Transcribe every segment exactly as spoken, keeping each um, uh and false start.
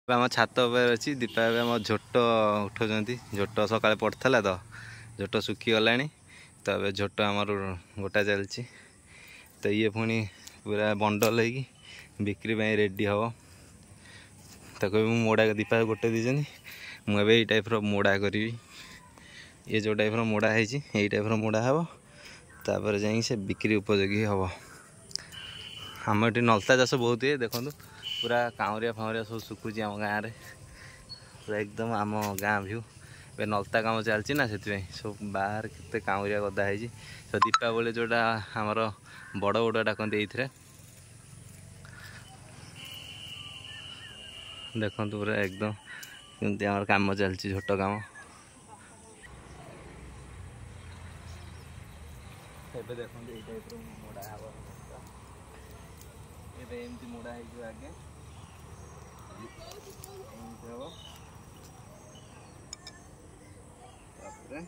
ଆମ ଛାତ ଉପରେ ଅଛି ଦୀପା। ଏବେ ଆମ ଝୋଟ ଉଠାଉଛନ୍ତି। ଝୋଟ ସକାଳେ ପଡ଼ିଥିଲା ତ ଝୋଟ ଶୁଖିଗଲାଣି, ତ ଏବେ ଝୋଟ ଆମର ଗୋଟା ଚାଲିଛି। ତ ଇଏ ପୁଣି ପୁରା ବଣ୍ଡଲ ହେଇକି ବିକ୍ରି ପାଇଁ ରେଡ଼ି ହେବ। ତାକୁ ଏବେ ମୁଁ ମୋଡ଼ା, ଦୀପା ଗୋଟେ ଦେଇଛନ୍ତି, ମୁଁ ଏବେ ଏଇ ଟାଇପ୍ର ମୋଡ଼ା କରିବି। ଇଏ ଯେଉଁ ଟାଇପ୍ର ମୋଡ଼ା ହେଇଛି, ଏଇ ଟାଇପ୍ର ମୋଡ଼ା ହେବ, ତାପରେ ଯାଇକି ସେ ବିକ୍ରି ଉପଯୋଗୀ ହେବ। ଆମ ଏଠି ନଲତା ଚାଷ ବହୁତ ହୁଏ। ଦେଖନ୍ତୁ, ପୁରା କାଉଁରିଆ ଫାଉଁରିଆ ସବୁ ଶୁଖୁଛି ଆମ ଗାଁରେ, ପୁରା ଏକଦମ ଆମ ଗାଁ ଭ୍ୟୁ। ଏବେ ନଲତା କାମ ଚାଲିଛି ନା, ସେଥିପାଇଁ ସବୁ ବାହାରେ କେତେ କାଉଁରିଆ ଗଦା ହେଇଛି। ତ ଦୀପାବଳି ଯେଉଁଟା ଆମର ବଡ଼ ବଡ଼ ଡାକନ୍ତି ଏଇଥିରେ। ଦେଖନ୍ତୁ, ପୁରା ଏକଦମ କେମିତି ଆମର କାମ ଚାଲିଛି, ଝୋଟ କାମ। ଏବେ ଦେଖନ୍ତୁ, ଏଇ ଟାଇପ୍ର ମୋଡ଼ା ହେବ। ଏବେ ଏମିତି ମୋଡ଼ା ହେଇଯିବ ଆଜ୍ଞା, ଏମିତି ହବ। ତାପରେ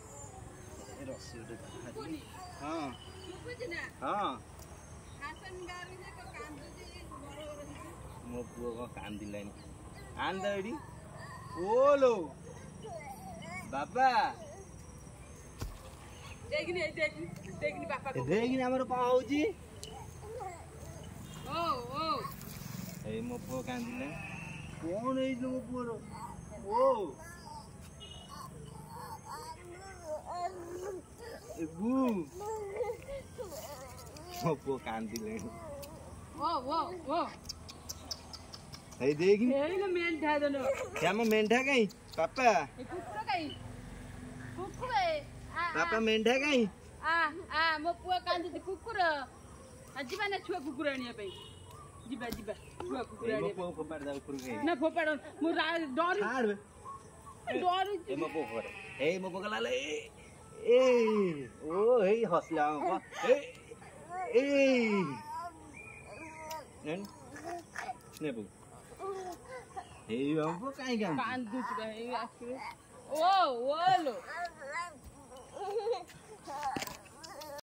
ରସି ଗୋଟେ। ହଁ ହଁ, ମୋ ପୁଅ କଣ କାନ୍ଦିଲାଣି? ଆଣ ତ ଏଇଠି। ଓଲୋ ବାବା, ଦେଖିନି ଆମର କଣ ହଉଛି। ଏଇ ମୋ ପୁଅ କାନ୍ଦିଲାଣି। କଣ ହେଇଛି ମୋ ପୁଅର? ଓ ଏବୁ, ମୋ ପୁଅ କାନ୍ଦିଲାଣି। ଏଇ ଦେଖିନି ଆମ ମେଣ୍ଢା କାଇଁ? ବାପା ବାପା, ମେଣ୍ଢା କାଇଁ? ମୋ ପୁଅ କାନ୍ଦୁଛି। କୁକୁର ଯିବା ନା ଛୁଆ କୁକୁର ଆଣିବା ପାଇଁ? ଯିବା ଯିବା, ଛୁଆ କୁକୁର ଆଣିବା ନା? ଫୋପାଡ଼, ମୁଁ ଡରି ଡରୁଛି। ମୋ ପୁଅ ଫୋପାଡ଼। ଏଇ ମୋ ପୁଅ ଗଲା। ଏ ଓ, ଏଇ ହସିଲା ଆମ ପୁଅ। ଏଇ ନେ ପୁଅ, ଏଇ ଆମ ପୁଅ କାଇଁ କାନ୍ଦୁଛି? କାଇଁ ଆସିବେ? ଓ ଓ ଲୋ।